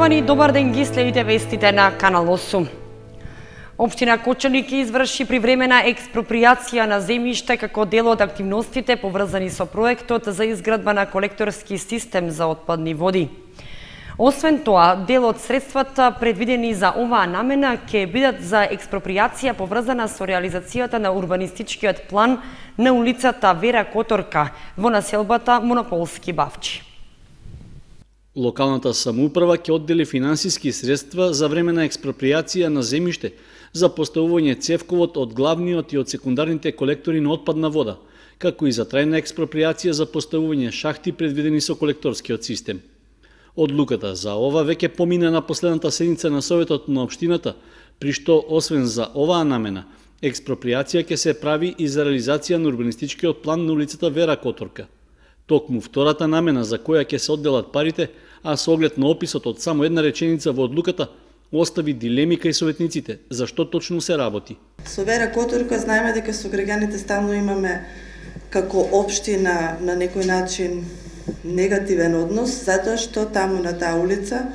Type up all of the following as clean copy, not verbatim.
Почитувани, добар ден, ги следите вестите на Канал 8. Општина Кочани ќе изврши привремена експроприација на земјиште како дел од активностите поврзани со проектот за изградба на колекторски систем за отпадни води. Освен тоа, дел од средствата предвидени за оваа намена ќе бидат за експроприација поврзана со реализацијата на урбанистичкиот план на улицата Вера Которка во населбата Монополски Бавчи. Локалната самоуправа ќе оддели финансиски средства за времена експроприација на земјиште за поставување цевковод од главниот и од секундарните колектори на отпадна вода, како и за трајна експроприација за поставување шахти предвидени со колекторскиот систем. Одлуката за ова веќе помина на последната седница на Советот на општината, при што освен за оваа намена, експроприација ќе се прави и за реализација на урбанистичкиот план на улицата Вера Которка. Токму втората намена за која ќе се одделат парите, а со оглед на описот од само една реченица во одлуката, остави дилеми кај советниците за што точно се работи. Со Вера Которка знаеме дека со граѓаните стално имаме како општина на некој начин негативен однос, затоа што таму на таа улица,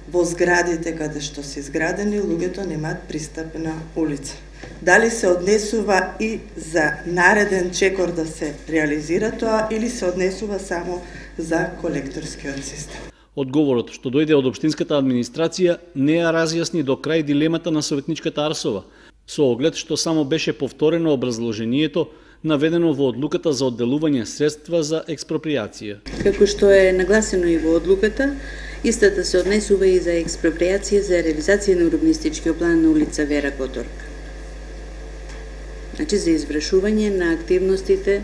во зградите каде што се изградени, луѓето немаат пристап на улица. Дали се однесува и за нареден чекор да се реализира тоа, или се однесува само за колекторскиот систем? Одговорот што дојде од општинската администрација не ја разјасни до крај дилемата на советничката Арсова, со оглед што само беше повторено образложението наведено во одлуката за одделување средства за експроприација. Како што е нагласено и во одлуката, истата се однесува и за експроприација за реализација на урбанистичкиот план на улица Вера Которка. Значи за извршување на активностите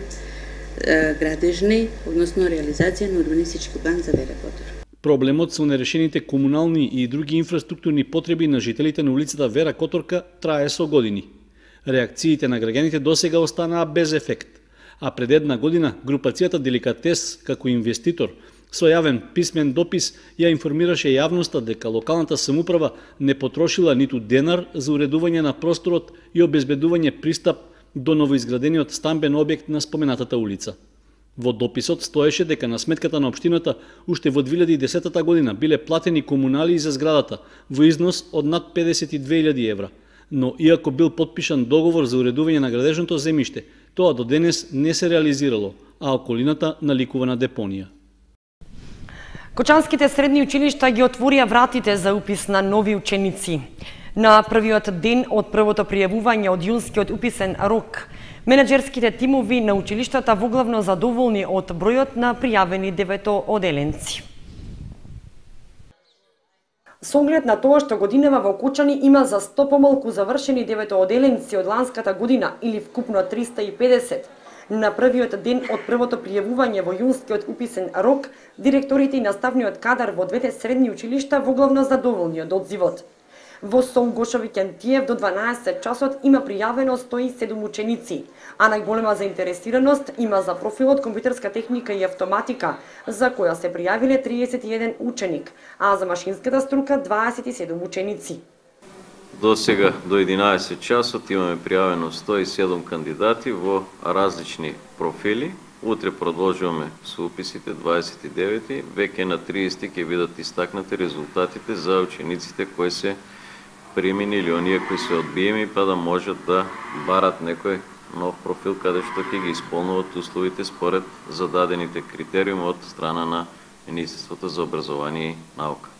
градежни, односно реализација на урбанистички план за Вера Которка. Проблемот со нерешените комунални и други инфраструктурни потреби на жителите на улицата Вера Которка трае со години. Реакциите на граѓаните досега останаа без ефект, а пред една година групацијата Деликатес како инвеститор со јавен писмен допис ја информираше јавноста дека локалната самоуправа не потрошила ниту денар за уредување на просторот и обезбедување пристап до новоизградениот стамбен објект на споменатата улица. Во дописот стоеше дека на сметката на општината уште во 2010 година биле платени комуналии за зградата во износ од над 52.000 евра, но иако бил потпишан договор за уредување на градежното земјиште, тоа до денес не се реализирало, а околината наликува на депонија. Кочанските средни училишта ги отворија вратите за упис на нови ученици. На првиот ден од првото пријавување од јунскиот уписен рок, менеджерските тимови на училиштата воглавно задоволни од бројот на пријавени деветооделенци. Со оглед на тоа што годинава во Кочани има за 100 помалку завршени деветооделенци од ланската година или вкупно 350, на првиот ден од првото пријавување во јунскиот уписен рок, директорите и наставниот кадар во двете средни училишта воглавно задоволни од одзивот. Во СОМ Гошови Кентиев до 12 часот има пријавено 107 ученици, а најголема заинтересираност има за профилот компјутерска техника и автоматика, за која се пријавиле 31 ученик, а за машинската струка 27 ученици. До сега, до 11 часот, имаме пријавено 107 кандидати во различни профили. Утре продолжуваме со уписите 29, веќе на 30 ќе бидат истакнати резултатите за учениците кои се примени или оние кои се одбиеми, па да можат да барат некој нов профил каде што ќе ги исполнуват условите според зададените критериуми од страна на Министерството за образование и наука.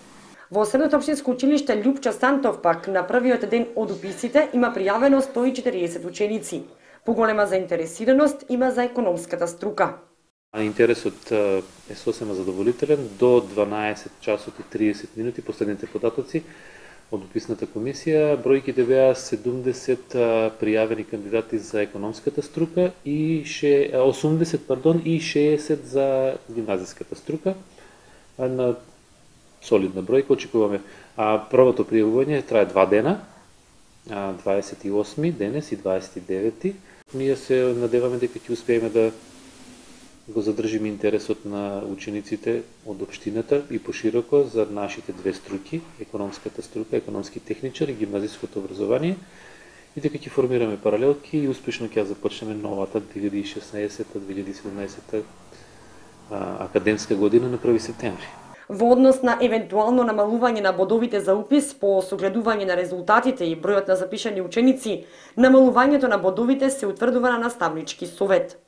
Во Средното општинско училиште Љупчо Сантов пак на првиот ден од уписите има пријавено 140 ученици. Поголема заинтересираност има за економската струка. Интересот е сосема задоволителен. До 12 часот и 30 минути последните податоци од уписната комисија, бројките беа 70 пријавени кандидати за економската струка и 80 и 60 за гимназиската струка. На солидна бројка очекуваме. Првото пријавување трае 2 дена, 28 денес и 29. Ние се надеваме дека ќе успееме да го задржиме интересот на учениците од општината и пошироко за нашите две струки, економската струка, економски техничар и гимназиското образование, и дека ќе формираме паралелки и успешно ќе започнеме новата 2016-2017 академска година на 1 септември. Во однос на евентуално намалување на бодовите за упис по согледување на резултатите и бројот на запишани ученици, намалувањето на бодовите се утврдува на наставнички совет.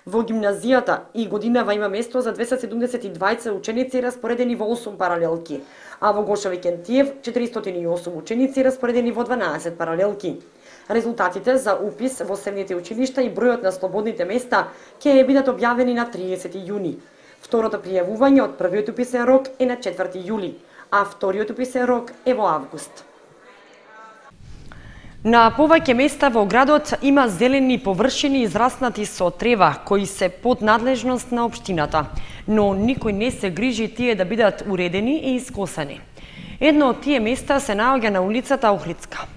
Во гимназијата и годинава има место за 272 ученици распоредени во 8 паралелки, а во Гоша Викентиев 408 ученици распоредени во 12 паралелки. Резултатите за упис во средните училишта и бројот на слободните места ќе бидат објавени на 30 јуни. Второто пријавување од првиот уписен рок е на 4 јули, а вториот уписен рок е во август. На повеќе места во градот има зелени површини израснати со трева, кои се под надлежност на општината, но никој не се грижи тие да бидат уредени и искосени. Едно од тие места се наоѓа на улицата Охридска.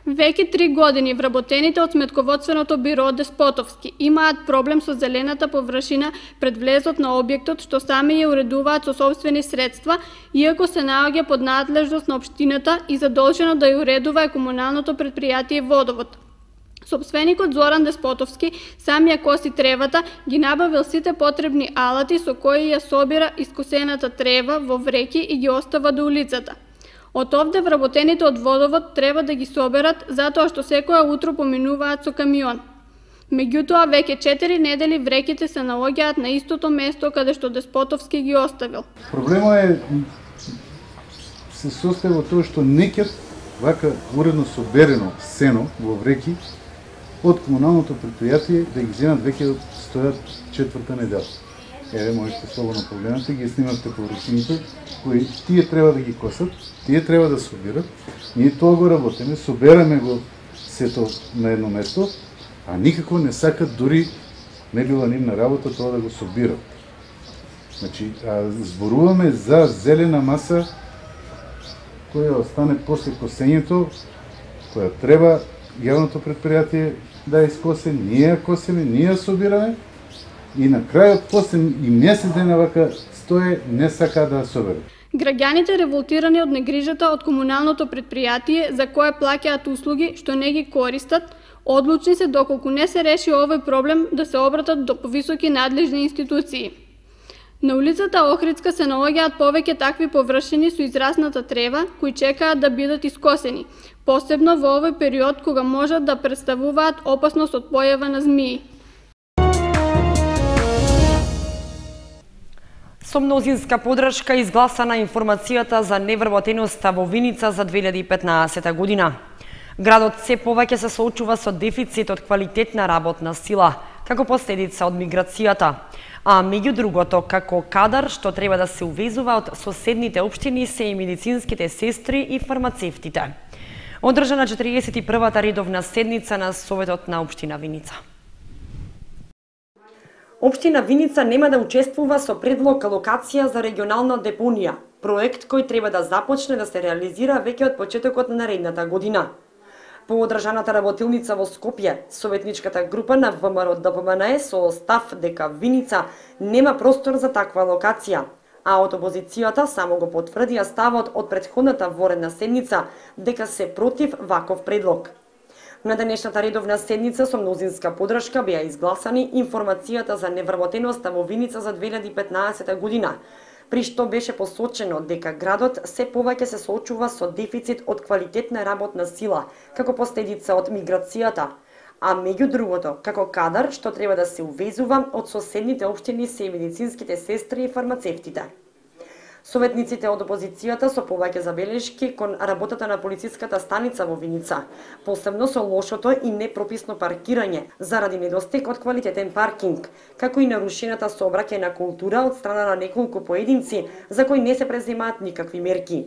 Веќе 3 години вработените од сметководственото биро Деспотовски имаат проблем со зелената површина пред влезот на објектот, што сами ја уредуваат со собствени средства, иако се наоѓа под надлежност на општината и задолжено да ја уредува е комуналното предпријатие Водовод. Сопственикот Зоран Деспотовски сам ја коси тревата, ги набавил сите потребни алати со кои ја собира искосената трева во вреќи и ги остава до улицата. Од овде вработените од Водовод треба да ги соберат затоа што секоја утро поминуваат со камион. Меѓутоа, веќе 4 недели вреќите се наоѓаат на истото место каде што Деспотовски ги оставил. Проблемот се состои во тоа што некад вака уредно соберено сено во вреќи од комуналното предпријатие да ги земат веќе стојат 4-та недела. Еве, можете слободно погледнете, ги снимавте површините, кои тие треба да ги косат, тие треба да собират. Ние тоа го работиме, собераме го сето на едно место, а никако не сакат дури не била нивна работа тоа да го собират. Значи, зборуваме за зелена маса која остане после косењето, која треба јавното предпријатие да ја искосе, ние ја косиме, ние ја собираме, и на крајот после и месец дена вака стое не сака да соберат. Граѓаните револтирани од негрижата од комуналното предпријатие за кое плаќаат услуги што не ги користат, одлучни се доколку не се реши овој проблем да се обратат до повисоки надлежни институции. На улицата Охридска се наоѓаат повеќе такви површини со израсната трева кои чекаат да бидат искосени, посебно во овој период кога можат да представуваат опасност од појава на змии. Со мнозинска подршка изгласана информацијата за невработеноста во Виница за 2015 година. Градот се повеќе се соочува со дефицит од квалитетна работна сила, како последица од миграцијата, а меѓу другото, како кадар што треба да се увезува од соседните општини се и медицинските сестри и фармацевтите. Одржана 41-та редовна седница на Советот на општина Виница. Општина Виница нема да учествува со предлог локација за регионална депонија, проект кој треба да започне да се реализира веќе од почетокот на наредната година. По одржаната работилница во Скопје, советничката група на ВМРО-ДПМНЕ со став дека Виница нема простор за таква локација, а од опозицијата само го потврдија ставот од претходната воредна седница дека се против ваков предлог. На денешната редовна седница со мнозинска подршка беа изгласани информацијата за невработеноста во Виница за 2015 година, при што беше посочено дека градот се повеќе се соочува со дефицит од квалитетна работна сила, како последица од миграцијата, а меѓу другото, како кадар што треба да се увезува од соседните општини се и медицинските сестри и фармацевтите. Советниците од опозицијата со повеќе забелешки кон работата на полициската станица во Виница, посебно со лошото и непрописно паркирање заради недостиг од квалитетен паркинг, како и нарушената сообраќајна култура од страна на неколку поединци за кои не се преземаат никакви мерки.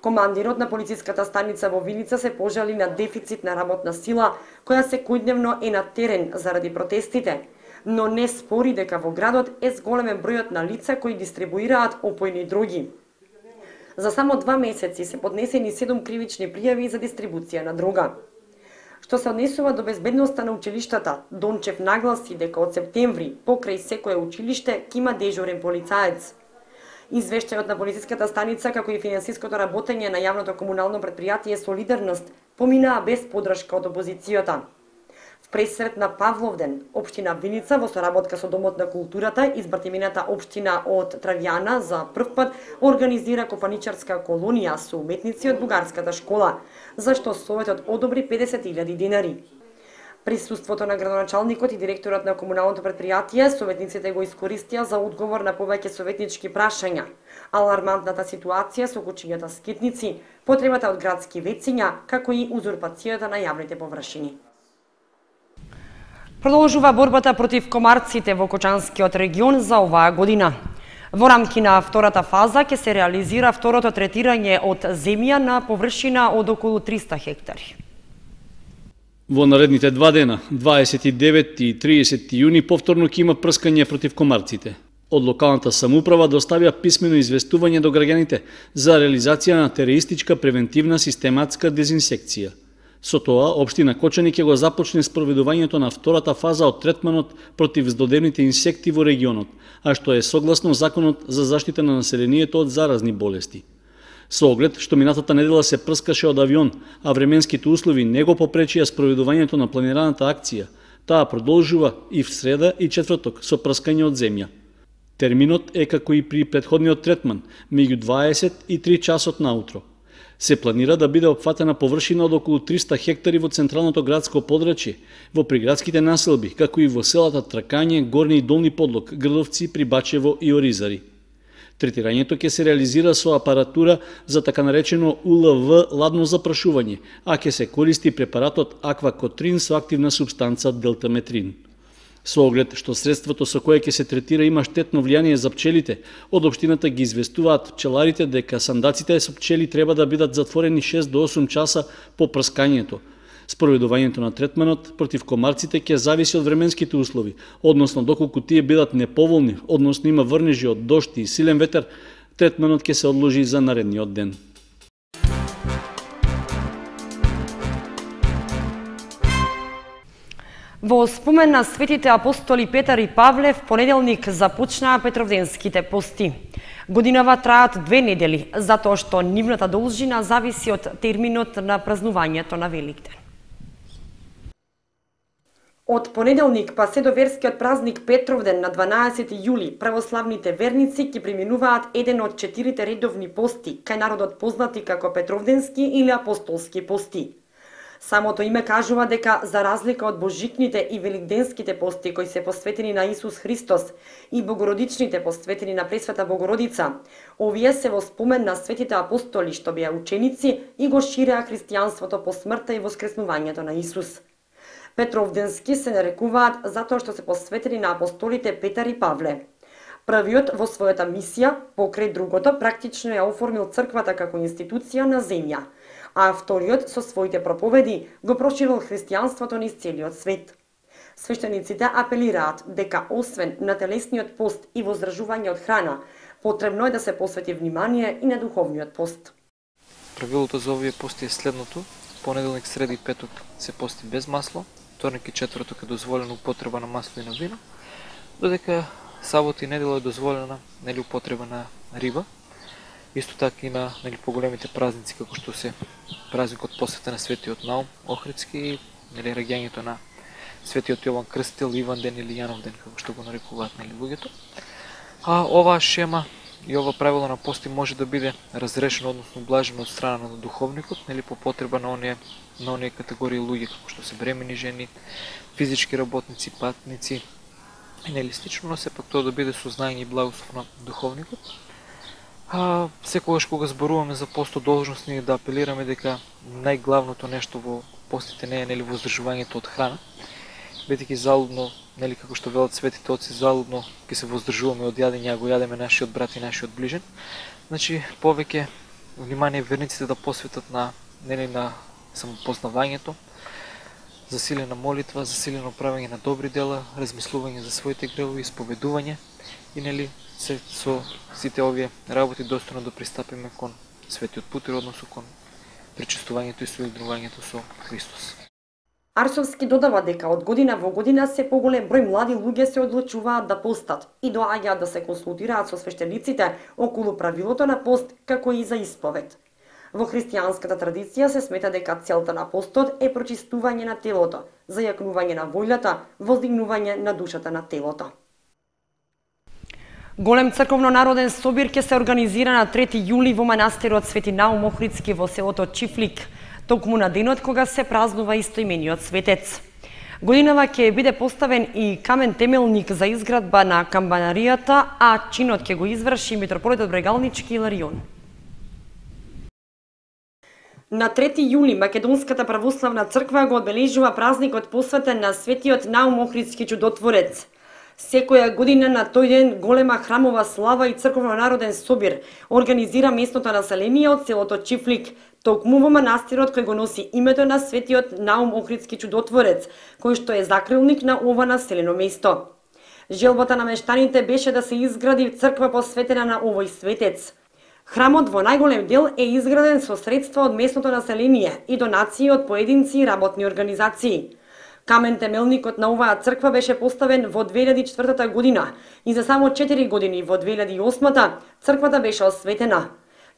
Командирот на полициската станица во Виница се пожали на дефицит на работна сила која секојдневно е на терен заради протестите, но не спори дека во градот е зголемен бројот на лица кои дистрибуираат опојни дроги. За само 2 месеци се поднесени 7 кривични пријави за дистрибуција на дрога. Што се однесува до безбедноста на училиштата, Дончев нагласи дека од септември покрај секое училиште ќе има дежурен полицаец. Извештајот на полициската станица како и финансиското работење на јавното комунално предпријатие Солидарност поминаа без подршка од опозицијата. Пресрет на Павловден, општина Виница во соработка со Домот на културата и збратимената општина од Травјана за прв пат организира копаничарска колонија со уметници од бугарската школа, за што Советот одобри 50.000 денари. Присуството на градоначалникот и директорот на комуналното предпријатие, советниците го искористија за одговор на повеќе советнички прашања. Алармантната ситуација со кучињата скитници, потребата од градски вециња, како и узурпацијата на јавните површини. Продолжува борбата против комарците во Кочанскиот регион за оваа година. Во рамки на втората фаза ќе се реализира второто третирање од земја на површина од околу 300 хектари. Во наредните 2 дена, 29 и 30 јуни, повторно ќе има прскање против комарците. Од локалната самоуправа доставија писмено известување до граѓаните за реализација на терористичка превентивна систематска дезинсекција. Со тоа, општина Кочани ќе го започне спроведувањето на втората фаза од третманот против здодевните инсекти во регионот, а што е согласно Законот за заштита на населението од заразни болести. Со оглед што минатата недела се прскаше од авион, а временските услови не го попречија спроведувањето на планираната акција, таа продолжува и в среда и четврток со прскање од земја. Терминот е како и при претходниот третман, меѓу 20 и 3 часот наутро. Се планира да биде опфатена површина од околу 300 хектари во централното градско подрачје, во приградските населби, како и во селата Тракање, Горни и Долни Подлог, Грдовци, Прибачево и Оризари. Третирањето ќе се реализира со апаратура за така наречено УЛВ ладно запрашување, а ќе се користи препаратот аквакотрин со активна супстанца делтаметрин. Со оглед што средството со кое ќе се третира има штетно влијание за пчелите, од општината ги известуваат пчеларите дека сандаците со пчели треба да бидат затворени 6 до 8 часа по прскањето. Спроведувањето на третманот против комарците ќе зависи од временските услови, односно доколку тие бидат неповолни, односно има врнежи од дожд и силен ветер, третманот ќе се одложи за наредниот ден. Во спомен на светите апостоли Петар и Павле, в понеделник започнаа Петровденските пости. Годинава траат 2 недели, затоа што нивната должина зависи од терминот на празнувањето на Великден. Од понеделник па се до верскиот празник Петровден на 12 јули, православните верници ќе преминуваат еден од 4 редовни пости, кај народот познати како Петровденски или апостолски пости. Самото име кажува дека, за разлика од божикните и великденските пости кои се посветени на Исус Христос и богородичните посветени на Пресвета Богородица, овие се во спомен на светите апостоли што беа ученици и го ширеа христијанството по смртта и воскреснувањето на Исус. Петровденски се нарекуваат затоа што се посветени на апостолите Петар и Павле. Првиот во својата мисија, покрај другото, практично ја оформил црквата како институција на земја, а вториот со своите проповеди го проширил христијанството низ целиот свет. Свештениците апелираат дека освен на телесниот пост и воздржување од храна, потребно е да се посвети внимание и на духовниот пост. Правилото за овие пости е следното: понеделник, среда и петок се пости без масло, вторник и четврток е дозволена употреба на масло и на вино, додека сабота и недела е дозволена употреба на риба. Исто така и на поголемите празници, како што се празникот посвета на Светиот Наум Охридски и раѓањето на Светиот Јован Крстител, Иванден или Јановден, како што го нарекуваат луѓето. А оваа шема и ова правило на пости може да биде разрешено, односно блажено од страна на духовникот, по потреба на оние категории луѓе, како што се бремени жени, физички работници, патници и слично, но сепак тоа да биде со знаење и благослов на духовникот. Секогаш кога зборуваме за постодолжностни, да апелираме дека најглавното нешто во постите не е воздржувањето од храна, бидејќи залудно, како што велат светите отци, залудно ќе се воздржуваме од јадење, а го јадеме нашиот брат и нашиот ближен. Значи, повеќе внимание верниците да посветат на самопознавањето, засилена молитва, засилено правење на добри дела, размислување за своите гревови, исповедување и со сите овие работи достојно да пристапиме кон светиот пут, односно кон причестувањето и соединувањето со Христос. Арсовски додава дека од година во година се поголем број млади луѓе се одлучуваат да постат и доаѓаат да се консултираат со свештениците околу правилото на пост, како и за исповед. Во христијанската традиција се смета дека целта на постот е прочистување на телото, зајакнување на волјата, воздигнување на душата на телото. Голем црковно-народен собир ќе се организира на 3 јули во манастирот Свети Наум Охридски во селото Чифлик, токму на денот кога се празнува истоимениот светец. Годинава ќе биде поставен и камен темелник за изградба на камбанаријата, а чинот ќе го изврши митрополитот Брегалнички Иларион. На 3 јули Македонската православна црква го одбележува празникот посветен на Светиот Наум Охридски чудотворец. Секоја година на тој ден голема храмова слава и црковно-народен собир организира местното население од селото Чифлик, токму во манастирот кој го носи името на Светиот Наум Охридски чудотворец, кој што е закрилник на ова населено место. Желбата на мештаните беше да се изгради црква посветена на овој светец. Храмот во најголем дел е изграден со средства од местното население и донации од поединци и работни организации. Камен темелникот на оваа црква беше поставен во 2004 година и за само 4 години во 2008 црквата беше осветена.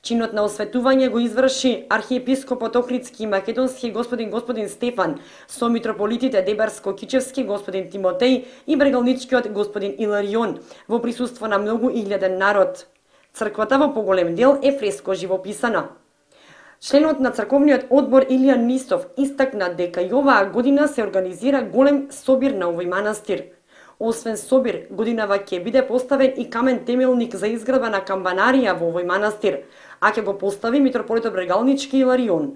Чинот на осветување го изврши архиепископот Охридски и македонски господин Стефан со митрополитите Дебарско-Кичевски господин Тимотеј и Брегалничкиот господин Иларион во присуство на многу илјаден народ. Црквата во поголем дел е фреско живописана. Членот на црковниот одбор Илијан Нистов истакна дека и оваа година се организира голем собир на овој манастир. Освен собир, годинава ќе биде поставен и камен темелник за изградба на камбанарија во овој манастир, а ќе го постави митрополитот Брегалнички Иларион.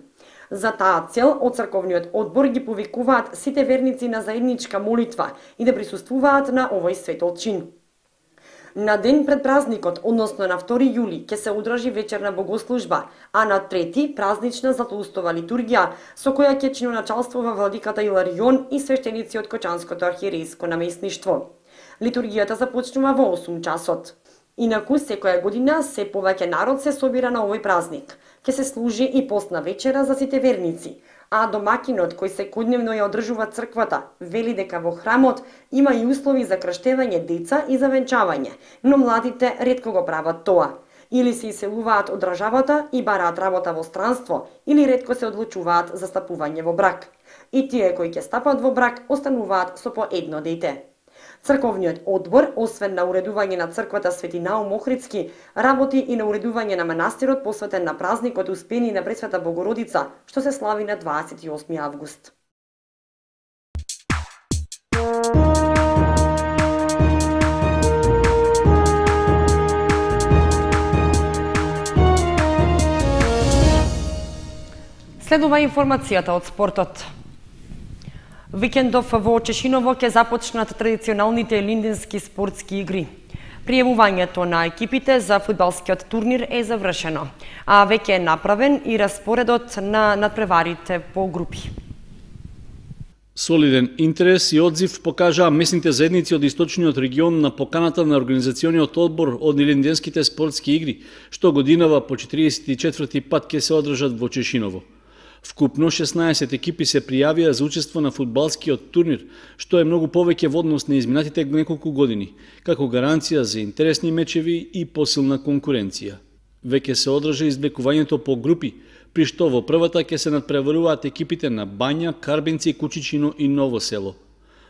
За таа цел од црковниот одбор ги повикуваат сите верници на заедничка молитва и да присуствуваат на овој светол чин. На ден пред празникот, односно на 2 јули, ќе се одржи вечерна богослужба, а на 3 празнична златоустова литургија, со која ќе чиноначалствува владиката Иларион и свештеници од Кочанското архиерејско наместништво. Литургијата започнува во 8 часот. Инаку, секоја година се повеќе народ се собира на овој празник. Ќе се служи и постна вечера за сите верници, а домакинот кој секојдневно ја одржува црквата вели дека во храмот има и услови за крштевање деца и за венчавање, но младите ретко го прават тоа. Или се иселуваат од државата и бараат работа во странство, или ретко се одлучуваат за стапување во брак. И тие кои ќе стапат во брак остануваат со по едно дете. Црковниот одбор, освен на уредување на црквата Свети Наум Охридски, работи и на уредување на манастирот посветен на празникот Успени на Пресвета Богородица, што се слави на 28 август. Следува информацијата од спортот. Викендов во Чешиново ќе започнат традиционалните линденски спортски игри. Пријавувањето на екипите за фудбалскиот турнир е завршено, а веќе е направен и распоредот на надпреварите по групи. Солиден интерес и одзив покажаа местните заедници од источниот регион на поканата на организациониот одбор од линденските спортски игри, што годинава по 44 пат ќе се одржат во Чешиново. Вкупно 16 екипи се пријавија за учество на фудбалскиот турнир, што е многу повеќе во однос на изминатите неколку години, како гаранција за интересни мечеви и посилна конкуренција. Веќе се одржа извлекувањето по групи, при што во првата ќе се надпреваруваат екипите на Бања, Карбенци, Кучичино и Ново село.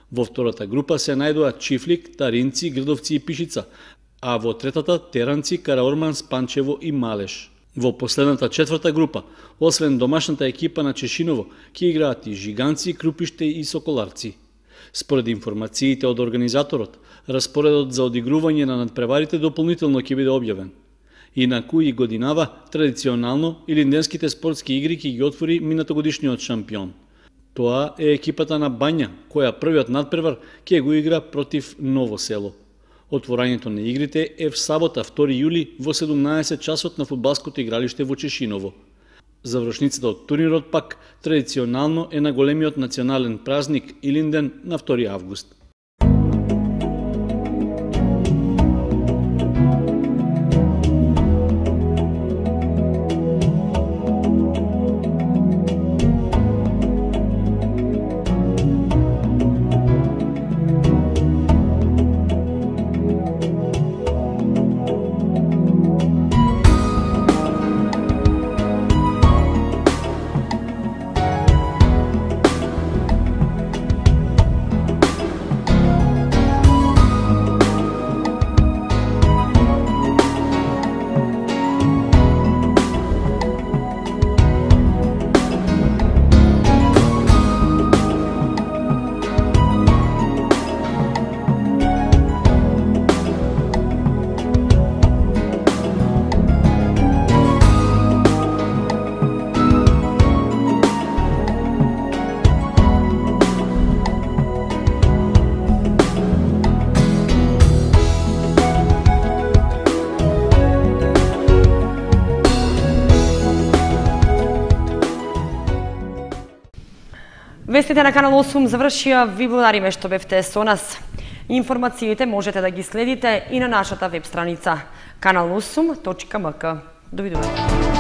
Во втората група се најдоа Чифлик, Таринци, Грдовци и Пишица, а во третата Теранци, Караорман, Спанчево и Малеш. Во последната четврта група, освен домашната екипа на Чешиново, ќе играат и Жиганци, Крупиште и Соколарци. Според информациите од организаторот, распоредот за одигрување на надпреварите дополнително ќе биде објавен. Инаку и годинава, традиционално, линденските спортски игри ќе ги отвори минатогодишниот шампион. Тоа е екипата на Бања, која првиот надпревар ќе го игра против Ново село. Отворањето на игрите е в сабота 2 јули во 17 часот на фудбалското игралиште во Чешиново. Завршницата од турнирот пак традиционално е на големиот национален празник Илинден на 2 август. Вестите на Канал 8 завршија, ви благодариме што бевте со нас. Информациите можете да ги следите и на нашата веб страница kanal8.mk. Довидување.